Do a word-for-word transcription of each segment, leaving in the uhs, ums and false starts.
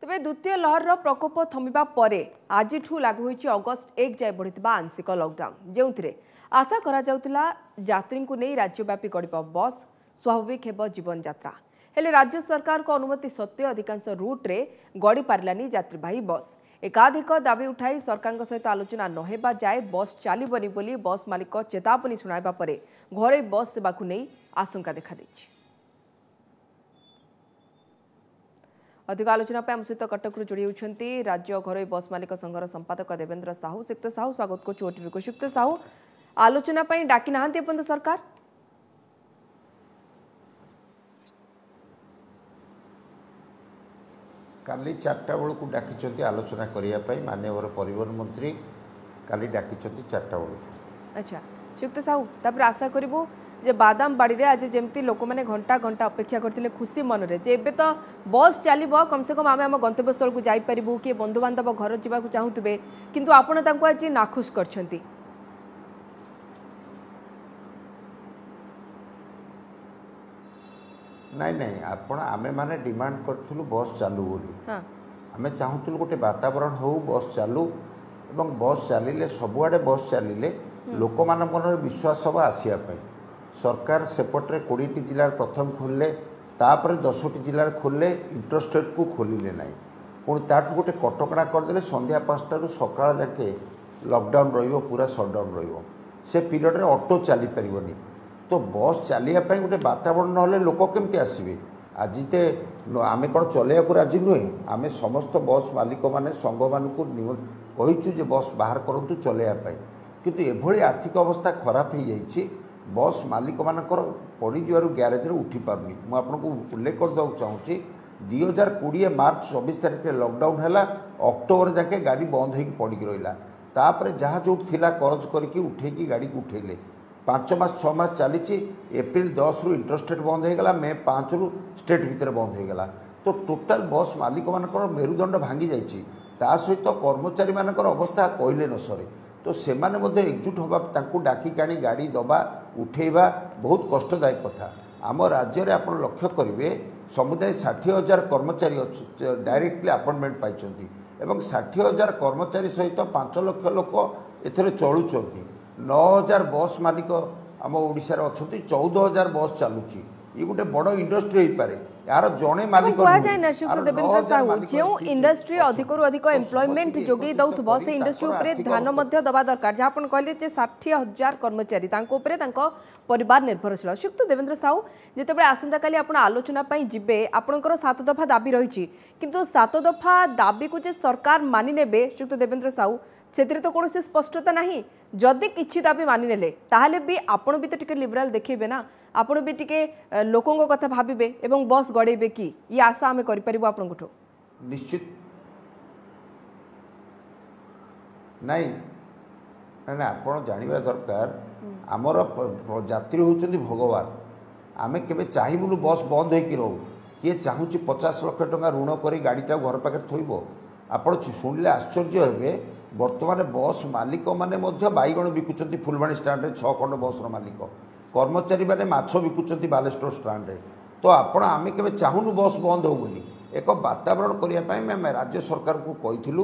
ତେବେ ଦ୍ୱିତୀୟ ଲହରର ପ୍ରକୋପ ଥମିବା ପରେ ଆଜିଠୁ ଲାଗୁ ହୋଇଛି ଅଗଷ୍ଟ ଏକ ଯାଏ ବଢ଼ିଥିବା ଆଂଶିକ ଲକଡାଉନ୍, ଯେଉଁଥିରେ ଆଶା କରାଯାଉଥିଲା ଯାତ୍ରୀଙ୍କୁ ନେଇ ରାଜ୍ୟବ୍ୟାପୀ ଗଡ଼ିବ ବସ୍, ସ୍ୱାଭାବିକ ହେବ ଜୀବନଯାତ୍ରା। ହେଲେ ରାଜ୍ୟ ସରକାରଙ୍କ ଅନୁମତି ସତ୍ତ୍ୱେ ଅଧିକାଂଶ ରୁଟ୍ରେ ଗଡ଼ି ପାରିଲାନି ଯାତ୍ରୀବାହୀ ବସ୍। ଏକାଧିକ ଦାବି ଉଠାଇ ସରକାରଙ୍କ ସହିତ ଆଲୋଚନା ନ ହେବା ଯାଏ ବସ୍ ଚାଲିବନି ବୋଲି ବସ୍ ମାଲିକ ଚେତାବନୀ ଶୁଣାଇବା ପରେ ଘରୋଇ ବସ୍ ସେବାକୁ ନେଇ ଆଶଙ୍କା ଦେଖାଦେଇଛି। ଅଧିକ ଆଲୋଚନା ପାଇଁ ଆମ ସହିତ କଟକରୁ ଯୋଡ଼ି ହେଉଛନ୍ତି ରାଜ୍ୟ ଘରୋଇ ବସ୍ ମାଲିକ ସଂଘର ସମ୍ପାଦକ ଦେବେନ୍ଦ୍ର ସାହୁ। ଶ୍ରୀଯୁକ୍ତ ସାହୁ, ସ୍ୱାଗତ କରୁଛୁ ଓଟିଭିକୁ। ଶ୍ରୀଯୁକ୍ତ ସାହୁ, ଆଲୋଚନା ପାଇଁ ଡାକି ନାହାନ୍ତି ଏପର୍ଯ୍ୟନ୍ତ ସରକାର? କାଲି ଚାରିଟା ବେଳକୁ ଡାକିଛନ୍ତି ଆଲୋଚନା କରିବା ପାଇଁ। ମାନ୍ୟବର ପରିବହନ ମନ୍ତ୍ରୀ କାଲି ଡାକିଛନ୍ତି ଚାରିଟା ବେଳକୁ। ଆଚ୍ଛା ଶ୍ରୀଯୁକ୍ତ ସାହୁ, ତାପରେ ଆଶା କରିବୁ ଯେ ବାଦାମ ବାଡ଼ିରେ ଆଜି ଯେମିତି ଲୋକମାନେ ଘଣ୍ଟା ଘଣ୍ଟା ଅପେକ୍ଷା କରିଥିଲେ ଖୁସି ମନରେ ଯେ ଏବେ ତ ବସ୍ ଚାଲିବ, କମସେ କମ ଆମେ ଆମ ଗନ୍ତବ୍ୟସ୍ଥଳକୁ ଯାଇପାରିବୁ, କିଏ ବନ୍ଧୁବାନ୍ଧବ ଘର ଯିବାକୁ ଚାହୁଁଥିବେ, କିନ୍ତୁ ଆପଣ ତାଙ୍କୁ ଆଜି ନାଖୁସ କରିଛନ୍ତି। ନାଇଁ ନାଇଁ, ଆପଣ ଆମେମାନେ ଡିମାଣ୍ଡ କରିଥିଲୁ ବସ୍ ଚାଲୁ ବୋଲି। ଆମେ ଚାହୁଁଥିଲୁ ଗୋଟେ ବାତାବରଣ ହେଉ, ବସ୍ ଚାଲୁ, ଏବଂ ବସ୍ ଚାଲିଲେ, ସବୁଆଡ଼େ ବସ୍ ଚାଲିଲେ ଲୋକମାନଙ୍କ ମନରେ ବିଶ୍ୱାସ ହେବ ଆସିବା ପାଇଁ। ସରକାର ସେପଟରେ କୋଡ଼ିଏଟି ଜିଲ୍ଲାରେ ପ୍ରଥମ ଖୋଲିଲେ, ତାପରେ ଦଶଟି ଜିଲ୍ଲାରେ ଖୋଲିଲେ, ଇଣ୍ଟରଷ୍ଟେଟ୍କୁ ଖୋଲିଲେ ନାହିଁ। ପୁଣି ତାଠୁ ଗୋଟେ କଟକଣା କରିଦେଲେ, ସନ୍ଧ୍ୟା ପାଞ୍ଚଟାରୁ ସକାଳ ଯାକେ ଲକଡାଉନ୍ ରହିବ, ପୁରା ସଟ୍ଡାଉନ୍ ରହିବ। ସେ ପିରିୟଡ଼ରେ ଅଟୋ ଚାଲିପାରିବନି। ତ ବସ୍ ଚାଲିବା ପାଇଁ ଗୋଟେ ବାତାବରଣ ନହେଲେ ଲୋକ କେମିତି ଆସିବେ? ଆଜି ତ ଆମେ କ'ଣ ଚଲେଇବାକୁ ରାଜି ନୁହେଁ? ଆମେ ସମସ୍ତ ବସ୍ ମାଲିକମାନେ ସଂଘମାନଙ୍କୁ କହିଛୁ ଯେ ବସ୍ ବାହାର କରନ୍ତୁ ଚଲେଇବା ପାଇଁ। କିନ୍ତୁ ଏଭଳି ଆର୍ଥିକ ଅବସ୍ଥା ଖରାପ ହେଇଯାଇଛି, ବସ୍ ମାଲିକମାନଙ୍କର ପଡ଼ିଯିବାରୁ ଗ୍ୟାରେଜରେ ଉଠିପାରୁନି। ମୁଁ ଆପଣଙ୍କୁ ଉଲ୍ଲେଖ କରିଦେବାକୁ ଚାହୁଁଛି, ଦୁଇ ହଜାର କୋଡ଼ିଏ ମାର୍ଚ୍ଚ ଚବିଶ ତାରିଖରେ ଲକଡାଉନ୍ ହେଲା, ଅକ୍ଟୋବର ଯାକେ ଗାଡ଼ି ବନ୍ଦ ହେଇକି ପଡ଼ିକି ରହିଲା। ତାପରେ ଯାହା ଯେଉଁଠି ଥିଲା କରଜ କରିକି ଉଠେଇକି ଗାଡ଼ିକୁ ଉଠେଇଲେ। ପାଞ୍ଚ ମାସ ଛଅ ମାସ ଚାଲିଛି। ଏପ୍ରିଲ ଦଶରୁ ଇଣ୍ଟରଷ୍ଟେଟ୍ ବନ୍ଦ ହେଇଗଲା, ମେ ପାଞ୍ଚରୁ ଷ୍ଟେଟ୍ ଭିତରେ ବନ୍ଦ ହେଇଗଲା। ତ ଟୋଟାଲ ବସ୍ ମାଲିକମାନଙ୍କର ମେରୁଦଣ୍ଡ ଭାଙ୍ଗି ଯାଇଛି। ତା ସହିତ କର୍ମଚାରୀମାନଙ୍କର ଅବସ୍ଥା କହିଲେ ନ ସରେ। ତ ସେମାନେ ମଧ୍ୟ ଏକଜୁଟ ହେବା, ତାଙ୍କୁ ଡାକିକି ଆଣି ଗାଡ଼ି ଦେବା ଉଠେଇବା ବହୁତ କଷ୍ଟଦାୟକ କଥା। ଆମ ରାଜ୍ୟରେ ଆପଣ ଲକ୍ଷ୍ୟ କରିବେ, ସମୁଦାୟ ଷାଠିଏ ହଜାର କର୍ମଚାରୀ ଡାଇରେକ୍ଟଲି ଆପଏଣ୍ଟମେଣ୍ଟ ପାଇଛନ୍ତି, ଏବଂ ଷାଠିଏ ହଜାର କର୍ମଚାରୀ ସହିତ ପାଞ୍ଚ ଲକ୍ଷ ଲୋକ ଏଥିରେ ଚଳୁଛନ୍ତି। ନଅ ହଜାର ବସ୍ ମାଲିକ ଆମ ଓଡ଼ିଶାରେ ଅଛନ୍ତି, ଚଉଦ ହଜାର ବସ୍ ଚାଲୁଛି। ଇଏ ଗୋଟେ ବଡ଼ ଇଣ୍ଡଷ୍ଟ୍ରି ହେଇପାରେ। ଏହାର ଜଣେ ମାଲିକ କୁହାଯାଏ ନା ଶ୍ରୀଯୁକ୍ତ ଦେବେନ୍ଦ୍ର ସାହୁ, ଯେଉଁ ଇଣ୍ଡଷ୍ଟ୍ରି ଅଧିକରୁ ଅଧିକ ଏମ୍ପ୍ଲୟମେଣ୍ଟ ଯୋଗାଇ ଦେଉଥିବ ସେ ଇଣ୍ଡଷ୍ଟ୍ରି ଉପରେ ଧ୍ୟାନ ମଧ୍ୟ ଦେବା ଦରକାର। ଯାହା ଆପଣ କହିଲେ ଯେ ଷାଠିଏ ହଜାର କର୍ମଚାରୀ, ତାଙ୍କ ଉପରେ ତାଙ୍କ ପରିବାର ନିର୍ଭରଶୀଳ। ଶ୍ରୀଯୁକ୍ତ ଦେବେନ୍ଦ୍ର ସାହୁ, ଯେତେବେଳେ ଆସନ୍ତାକାଲି ଆପଣ ଆଲୋଚନା ପାଇଁ ଯିବେ, ଆପଣଙ୍କର ସାତ ଦଫା ଦାବି ରହିଛି, କିନ୍ତୁ ସାତ ଦଫା ଦାବିକୁ ଯେ ସରକାର ମାନି ନେବେ ଶ୍ରୀଯୁକ୍ତ ଦେବେନ୍ଦ୍ର ସାହୁ, ସେଥିରେ ତ କୌଣସି ସ୍ପଷ୍ଟତା ନାହିଁ। ଯଦି କିଛି ଦାବି ମାନିନେଲେ ତାହେଲେ ବି ଆପଣ ବି ତ ଟିକେ ଲିବରାଲ ଦେଖେଇବେ ନା, ଆପଣ ବି ଟିକେ ଲୋକଙ୍କ କଥା ଭାବିବେ ଏବଂ ବସ୍ ଗଡ଼େଇବେ କି? ଇଏ ଆଶା ଆମେ କରିପାରିବୁ ଆପଣଙ୍କଠୁ? ନିଶ୍ଚିତ ନାଇଁ। ନାଇଁ, ଆପଣ ଜାଣିବା ଦରକାର, ଆମର ଯାତ୍ରୀ ହେଉଛନ୍ତି ଭଗବାନ। ଆମେ କେବେ ଚାହିଁବୁନୁ ବସ୍ ବନ୍ଦ ହେଇକି ରହୁ। କିଏ ଚାହୁଁଛି ପଚାଶ ଲକ୍ଷ ଟଙ୍କା ଋଣ କରି ଗାଡ଼ିଟାକୁ ଘର ପାଖରେ ଥୋଇବ? ଆପଣ ଶୁଣିଲେ ଆଶ୍ଚର୍ଯ୍ୟ ହେବେ, ବର୍ତ୍ତମାନ ବସ୍ ମାଲିକମାନେ ମଧ୍ୟ ବାଇଗଣ ବିକୁଛନ୍ତି ଫୁଲବାଣୀ ଷ୍ଟାଣ୍ଡରେ, ଛଅ ଖଣ୍ଡ ବସ୍ର ମାଲିକ। କର୍ମଚାରୀମାନେ ମାଛ ବିକୁଛନ୍ତି ବାଲେଶ୍ୱର ଷ୍ଟାଣ୍ଡରେ। ତ ଆପଣ, ଆମେ କେବେ ଚାହୁଁନୁ ବସ୍ ବନ୍ଦ ହେଉ ବୋଲି। ଏକ ବାତାବରଣ କରିବା ପାଇଁ ଆମେ ରାଜ୍ୟ ସରକାରଙ୍କୁ କହିଥିଲୁ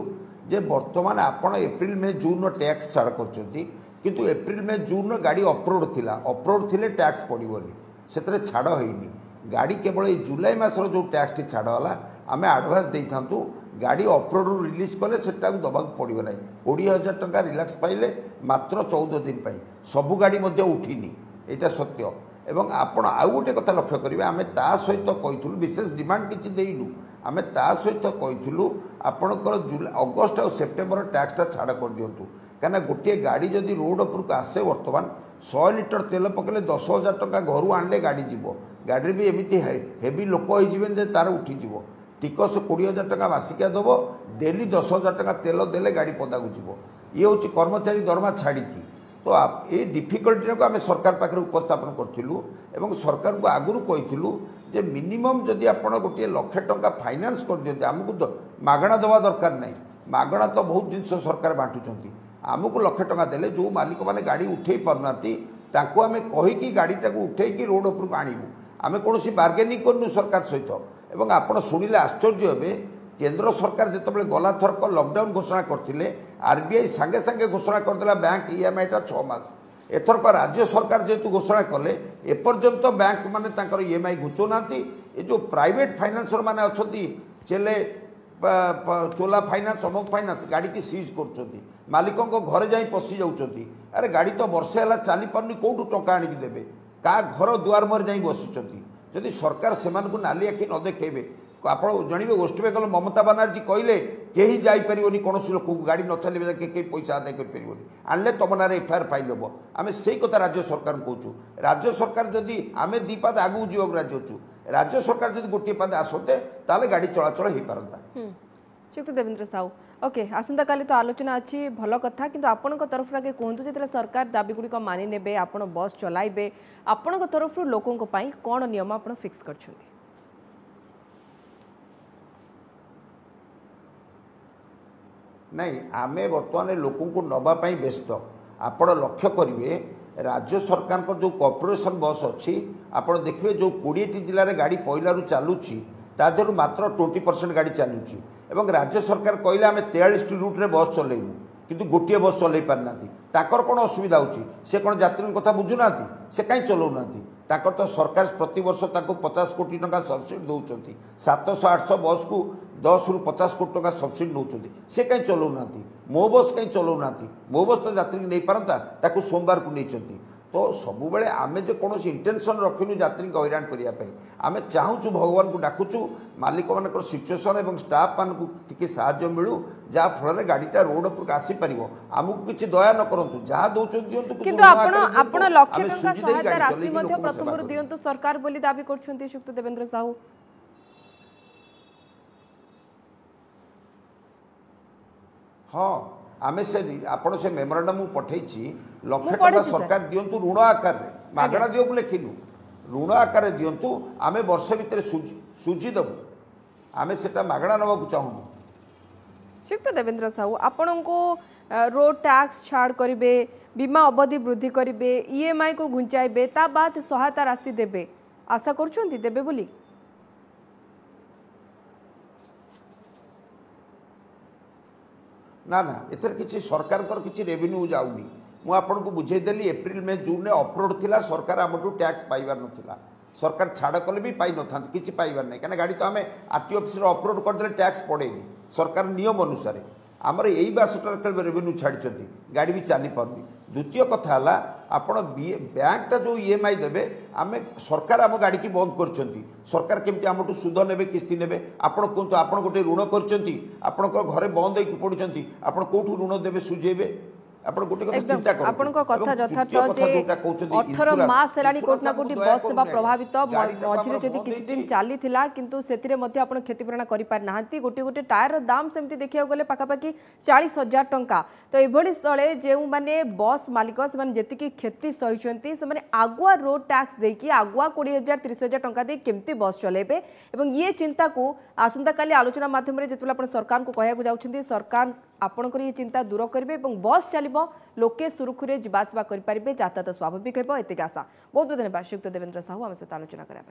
ଯେ ବର୍ତ୍ତମାନ ଆପଣ ଏପ୍ରିଲ ମେ ଜୁନ୍ର ଟ୍ୟାକ୍ସ ଛାଡ଼ କରିଛନ୍ତି, କିନ୍ତୁ ଏପ୍ରିଲ ମେ ଜୁନ୍ର ଗାଡ଼ି ଅଫରୋଡ଼ ଥିଲା, ଅଫରୋଡ଼ ଥିଲେ ଟ୍ୟାକ୍ସ ପଡ଼ିବନି, ସେଥିରେ ଛାଡ଼ ହେଇନି। ଗାଡ଼ି କେବଳ ଏଇ ଜୁଲାଇ ମାସର ଯେଉଁ ଟ୍ୟାକ୍ସଟି ଛାଡ଼ ହେଲା, ଆମେ ଆଡ଼ଭାନ୍ସ ଦେଇଥାନ୍ତୁ। ଗାଡ଼ି ଅଫରୋଡ଼ରୁ ରିଲିଜ୍ କଲେ ସେଟାକୁ ଦେବାକୁ ପଡ଼ିବ ନାହିଁ। କୋଡ଼ିଏ ହଜାର ଟଙ୍କା ରିଲାକ୍ସ ପାଇଲେ ମାତ୍ର ଚଉଦ ଦିନ ପାଇଁ। ସବୁ ଗାଡ଼ି ମଧ୍ୟ ଉଠିନି, ଏଇଟା ସତ୍ୟ। ଏବଂ ଆପଣ ଆଉ ଗୋଟେ କଥା ଲକ୍ଷ୍ୟ କରିବେ, ଆମେ ତା ସହିତ କହିଥିଲୁ, ବିଶେଷ ଡିମାଣ୍ଡ କିଛି ଦେଇନୁ, ଆମେ ତା ସହିତ କହିଥିଲୁ ଆପଣଙ୍କର ଜୁଲାଇ ଅଗଷ୍ଟ ଆଉ ସେପ୍ଟେମ୍ବର ଟ୍ୟାକ୍ସଟା ଛାଡ଼ କରିଦିଅନ୍ତୁ। କାହିଁକିନା ଗୋଟିଏ ଗାଡ଼ି ଯଦି ରୋଡ଼ ଉପରକୁ ଆସେ, ବର୍ତ୍ତମାନ ଶହେ ଲିଟର ତେଲ ପକାଇଲେ ଦଶ ହଜାର ଟଙ୍କା ଘରୁ ଆଣିଲେ ଗାଡ଼ି ଯିବ। ଗାଡ଼ିରେ ବି ଏମିତି ହେଭି ଲୋକ ହେଇଯିବେନି ଯେ ତାର ଉଠିଯିବ। ଟିକସ କୋଡ଼ିଏ ହଜାର ଟଙ୍କା ମାସିକିଆ ଦେବ, ଡେଲି ଦଶ ହଜାର ଟଙ୍କା ତେଲ ଦେଲେ ଗାଡ଼ି ପଦାକୁ ଯିବ। ଇଏ ହେଉଛି କର୍ମଚାରୀ ଦରମା ଛାଡ଼ିକି। ତ ଏଇ ଡିଫିକଲ୍ଟିଟାକୁ ଆମେ ସରକାର ପାଖରେ ଉପସ୍ଥାପନ କରିଥିଲୁ, ଏବଂ ସରକାରଙ୍କୁ ଆଗରୁ କହିଥିଲୁ ଯେ ମିନିମମ୍ ଯଦି ଆପଣ ଗୋଟିଏ ଲକ୍ଷେ ଟଙ୍କା ଫାଇନାନ୍ସ କରିଦିଅନ୍ତି, ଆମକୁ ମାଗଣା ଦେବା ଦରକାର ନାହିଁ, ମାଗଣା ତ ବହୁତ ଜିନିଷ ସରକାର ବାଣ୍ଟୁଛନ୍ତି। ଆମକୁ ଲକ୍ଷେ ଟଙ୍କା ଦେଲେ ଯେଉଁ ମାଲିକମାନେ ଗାଡ଼ି ଉଠେଇ ପାରୁନାହାନ୍ତି ତାଙ୍କୁ ଆମେ କହିକି ଗାଡ଼ିଟାକୁ ଉଠେଇକି ରୋଡ଼ ଉପରକୁ ଆଣିବୁ। ଆମେ କୌଣସି ବାର୍ଗେନିଂ କରିନୁ ସରକାର ସହିତ। ଏବଂ ଆପଣ ଶୁଣିଲେ ଆଶ୍ଚର୍ଯ୍ୟ ହେବେ, କେନ୍ଦ୍ର ସରକାର ଯେତେବେଳେ ଗଲାଥରକ ଲକଡାଉନ୍ ଘୋଷଣା କରିଥିଲେ ଆର୍ବିଆଇ ସାଙ୍ଗେ ସାଙ୍ଗେ ଘୋଷଣା କରିଦେଲା ବ୍ୟାଙ୍କ ଇଏମ୍ଆଇଟା ଛଅ ମାସ ଏଥରକ ରାଜ୍ୟ ସରକାର ଯେହେତୁ ଘୋଷଣା କଲେ ଏପର୍ଯ୍ୟନ୍ତ ବ୍ୟାଙ୍କ ମାନେ ତାଙ୍କର ଇଏମ୍ଆଇ ଘୁଞ୍ଚଉନାହାନ୍ତି ଏ ଯେଉଁ ପ୍ରାଇଭେଟ୍ ଫାଇନାନ୍ସର ମାନେ ଅଛନ୍ତି ଚେଲେ ଚୋଲା ଫାଇନାନ୍ସ ଅମୁକ ଫାଇନାନ୍ସ ଗାଡ଼ିକି ସିଜ୍ କରୁଛନ୍ତି ମାଲିକଙ୍କ ଘରେ ଯାଇ ପଶି ଯାଉଛନ୍ତି ଆରେ ଗାଡ଼ି ତ ବର୍ଷେ ହେଲା ଚାଲିପାରୁନି କେଉଁଠୁ ଟଙ୍କା ଆଣିକି ଦେବେ କାହା ଘର ଦୁଆର ମୁହଁରେ ଯାଇ ବସିଛନ୍ତି ଯଦି ସରକାର ସେମାନଙ୍କୁ ନାଲି ଆଖି ନ ଦେଖେଇବେ ଆପଣ ଜାଣିବେ ୱେଷ୍ଟବେଙ୍ଗଲ ମମତା ବାନାର୍ଜୀ କହିଲେ କେହି ଯାଇପାରିବନି କୌଣସି ଲୋକକୁ ଗାଡ଼ି ନ ଚାଲିବେ ଯାକେ କେହି ପଇସା ଆଦାୟ କରିପାରିବନି ଆଣିଲେ ତୁମ ନାଁରେ ଏଫଆଇଆର୍ ଫାଇଲ୍ ହେବ ଆମେ ସେଇ କଥା ରାଜ୍ୟ ସରକାରଙ୍କୁ କହୁଛୁ ରାଜ୍ୟ ସରକାର ଯଦି ଆମେ ଦୁଇ ପାଦ ଆଗକୁ ଯିବାକୁ ରାଜି ଅଛୁ ରାଜ୍ୟ ସରକାର ଯଦି ଗୋଟିଏ ପାଦ ଆସନ୍ତେ ତାହେଲେ ଗାଡ଼ି ଚଳାଚଳ ହେଇପାରନ୍ତା ଶ୍ରୀଯୁକ୍ତ ଦେବେନ୍ଦ୍ର ସାହୁ ଓକେ ଆସନ୍ତାକାଲି ତ ଆଲୋଚନା ଅଛି ଭଲ କଥା କିନ୍ତୁ ଆପଣଙ୍କ ତରଫରୁ ଆଗେ କୁହନ୍ତୁ ଯେତେବେଳେ ସରକାର ଦାବି ଗୁଡ଼ିକ ମାନି ନେବେ ଆପଣ ବସ୍ ଚଲାଇବେ ଆପଣଙ୍କ ତରଫରୁ ଲୋକଙ୍କ ପାଇଁ କ'ଣ ନିୟମ ଆପଣ ଫିକ୍ସ କରିଛନ୍ତି ନାଇଁ ଆମେ ବର୍ତ୍ତମାନ ଲୋକଙ୍କୁ ନେବା ପାଇଁ ବ୍ୟସ୍ତ ଆପଣ ଲକ୍ଷ୍ୟ କରିବେ ରାଜ୍ୟ ସରକାରଙ୍କ ଯେଉଁ କର୍ପୋରେସନ୍ ବସ୍ ଅଛି ଆପଣ ଦେଖିବେ ଯେଉଁ କୋଡ଼ିଏଟି ଜିଲ୍ଲାରେ ଗାଡ଼ି ପହିଲାରୁ ଚାଲୁଛି ତା ଦେହରୁ ମାତ୍ର ଟ୍ୱେଣ୍ଟି ପରସେଣ୍ଟ ଗାଡ଼ି ଚାଲୁଛି ଏବଂ ରାଜ୍ୟ ସରକାର କହିଲେ ଆମେ ତେୟାଳିଶଟି ରୁଟ୍ରେ ବସ୍ ଚଲେଇବୁ କିନ୍ତୁ ଗୋଟିଏ ବସ୍ ଚଲେଇ ପାରିନାହାନ୍ତି ତାଙ୍କର କ'ଣ ଅସୁବିଧା ହେଉଛି ସେ କ'ଣ ଯାତ୍ରୀଙ୍କ କଥା ବୁଝୁନାହାନ୍ତି ସେ କାହିଁ ଚଲାଉନାହାନ୍ତି ତାଙ୍କର ତ ସରକାର ପ୍ରତିବର୍ଷ ତାଙ୍କୁ ପଚାଶ କୋଟି ଟଙ୍କା ସବସିଡ଼ି ଦେଉଛନ୍ତି ସାତଶହ ଆଠଶହ ବସ୍କୁ ଦଶରୁ ପଚାଶ କୋଟି ଟଙ୍କା ସବସିଡ଼ି ନେଉଛନ୍ତି ସେ କାହିଁ ଚଲାଉନାହାନ୍ତି ମୋ ବସ୍ କାହିଁ ଚଲାଉନାହାନ୍ତି ମୋ ବସ୍ ତ ଯାତ୍ରୀଙ୍କୁ ନେଇପାରନ୍ତା ତାକୁ ସୋମବାରକୁ ନେଇଛନ୍ତି ତ ସବୁବେଳେ ଆମେ ଯେ କୌଣସି ଇଣ୍ଟେନସନ୍ ରଖିନୁ ଯାତ୍ରୀଙ୍କୁ ହଇରାଣ କରିବା ପାଇଁ ଆମେ ଚାହୁଁଛୁ ଭଗବାନଙ୍କୁ ଡାକୁଛୁ ମାଲିକମାନଙ୍କର ସିଚୁଏସନ୍ ଏବଂ ଷ୍ଟାଫ୍ମାନଙ୍କୁ ଟିକେ ସାହାଯ୍ୟ ମିଳୁ ଯାହାଫଳରେ ଗାଡ଼ିଟା ରୋଡ଼ ଉପରକୁ ଆସିପାରିବ ଆମକୁ କିଛି ଦୟା ନ କରନ୍ତୁ ଯାହା ଦେଉଛନ୍ତି ଦିଅନ୍ତୁ କିନ୍ତୁ ଆପଣ ଆପଣ ଲକ୍ଷେ ଟଙ୍କା ସହାୟତା ରାଶି ମଧ୍ୟ ପ୍ରଥମରୁ ଦିଅନ୍ତୁ ସରକାର ବୋଲି ଦାବି କରୁଛନ୍ତି ଶ୍ରୀଯୁକ୍ତ ଦେବେନ୍ଦ୍ର ସାହୁ ହଁ ଆମେ ସେ ଆପଣ ସେ ମେମୋରାଣ୍ଡମ୍ ମୁଁ ପଠେଇଛି ଲକ୍ଷେ ଟଙ୍କା ସରକାର ଦିଅନ୍ତୁ ଋଣ ଆକାରରେ ମାଗଣା ଦିଅ ମୁଁ ଲେଖିନୁ ଋଣ ଆକାରରେ ଦିଅନ୍ତୁ ଆମେ ବର୍ଷେ ଭିତରେ ସୁଝି ସୁଝି ଦେବୁ ଆମେ ସେଟା ମାଗଣା ନେବାକୁ ଚାହୁଁନୁ ଶ୍ରୀଯୁକ୍ତ ଦେବେନ୍ଦ୍ର ସାହୁ ଆପଣଙ୍କୁ ରୋଡ୍ ଟ୍ୟାକ୍ସ ଛାଡ଼ କରିବେ ବୀମା ଅବଧି ବୃଦ୍ଧି କରିବେ ଇଏମ୍ଆଇ କୁ ଘୁଞ୍ଚାଇବେ ତା ବାଦ ସହାୟତା ରାଶି ଦେବେ ଆଶା କରୁଛନ୍ତି ଦେବେ ବୋଲି ନା ନା ଏଥିରେ କିଛି ସରକାରଙ୍କର କିଛି ରେଭିନ୍ୟୁ ଯାଉନି ମୁଁ ଆପଣଙ୍କୁ ବୁଝେଇଦେଲି ଏପ୍ରିଲ ମେ ଜୁନରେ ଅଫରୋଡ଼ ଥିଲା ସରକାର ଆମଠୁ ଟ୍ୟାକ୍ସ ପାଇବାର ନଥିଲା ସରକାର ଛାଡ଼ କଲେ ବି ପାଇନଥାନ୍ତେ କିଛି ପାଇବାର ନାହିଁ କାହିଁକିନା ଗାଡ଼ି ତ ଆମେ ଆର୍ ଟି ଅଫିସରେ ଅପଲୋଡ଼ କରିଦେଲେ ଟ୍ୟାକ୍ସ ପଡ଼େନି ସରକାର ନିୟମ ଅନୁସାରେ ଆମର ଏଇ ମାସଟାରେ କେବଳ ରେଭିନ୍ୟୁ ଛାଡ଼ିଛନ୍ତି ଗାଡ଼ି ବି ଚାଲିପାରୁନି ଦ୍ୱିତୀୟ କଥା ହେଲା ଆପଣ ବ୍ୟାଙ୍କଟା ଯେଉଁ ଇ ଏମ୍ I ଦେବେ ଆମେ ସରକାର ଆମ ଗାଡ଼ିକି ବନ୍ଦ କରିଛନ୍ତି ସରକାର କେମିତି ଆମଠୁ ସୁଧ ନେବେ କିସ୍ତି ନେବେ ଆପଣ କୁହନ୍ତୁ ଆପଣ ଗୋଟେ ଋଣ କରିଛନ୍ତି ଆପଣଙ୍କ ଘରେ ବନ୍ଦ ହେଇକି ପଡ଼ୁଛନ୍ତି ଆପଣ କେଉଁଠୁ ଋଣ ଦେବେ ସୁଝେଇବେ ଆପଣ ଗୋଟେ କଥା ଚିନ୍ତା କରନ୍ତୁ ଆପଣଙ୍କ କଥା ଯଥାର୍ଥ ଯେ ଅଠର ମାସ ହେଲାଣି କୋଉଠି ନା କୋଉଠି ବସ୍ ସେବା ପ୍ରଭାବିତ ମଝିରେ ଯଦି କିଛି ଦିନ ଚାଲିଥିଲା କିନ୍ତୁ ସେଥିରେ ମଧ୍ୟ ଆପଣ କ୍ଷତିପୂରଣ କରିପାରିନାହାନ୍ତି ଗୋଟିଏ ଗୋଟିଏ ଟାୟାରର ଦାମ ସେମିତି ଦେଖିବାକୁ ଗଲେ ପାଖାପାଖି ଚାଳିଶ ହଜାର ଟଙ୍କା ତ ଏଭଳି ସ୍ଥଳେ ଯେଉଁମାନେ ବସ୍ ମାଲିକ ସେମାନେ ଯେତିକି କ୍ଷତି ସହିଛନ୍ତି ସେମାନେ ଆଗୁଆ ରୋଡ୍ ଟ୍ୟାକ୍ସ ଦେଇକି ଆଗୁଆ କୋଡ଼ିଏ ହଜାର ତିରିଶ ହଜାର ଟଙ୍କା ଦେଇ କେମିତି ବସ୍ ଚଲାଇବେ ଏବଂ ଇଏ ଚିନ୍ତାକୁ ଆସନ୍ତାକାଲି ଆଲୋଚନା ମାଧ୍ୟମରେ ଯେତେବେଳେ ଆପଣ ସରକାରଙ୍କୁ କହିବାକୁ ଯାଉଛନ୍ତି ସରକାର ଆପଣଙ୍କର ଇଏ ଚିନ୍ତା ଦୂର କରିବେ ଏବଂ ବସ୍ ଚାଲିବ ଲୋକେ ସୁରୁଖୁରୁରେ ଯିବା ଆସିବା କରିପାରିବେ ଯାତାୟାତ ସ୍ୱାଭାବିକ ହେବ ଏତିକି ଆଶା ବହୁତ ବହୁତ ଧନ୍ୟବାଦ ଶ୍ରୀଯୁକ୍ତ ଦେବେନ୍ଦ୍ର ସାହୁ ଆମ ସହିତ ଆଲୋଚନା କରିବା ପାଇଁ।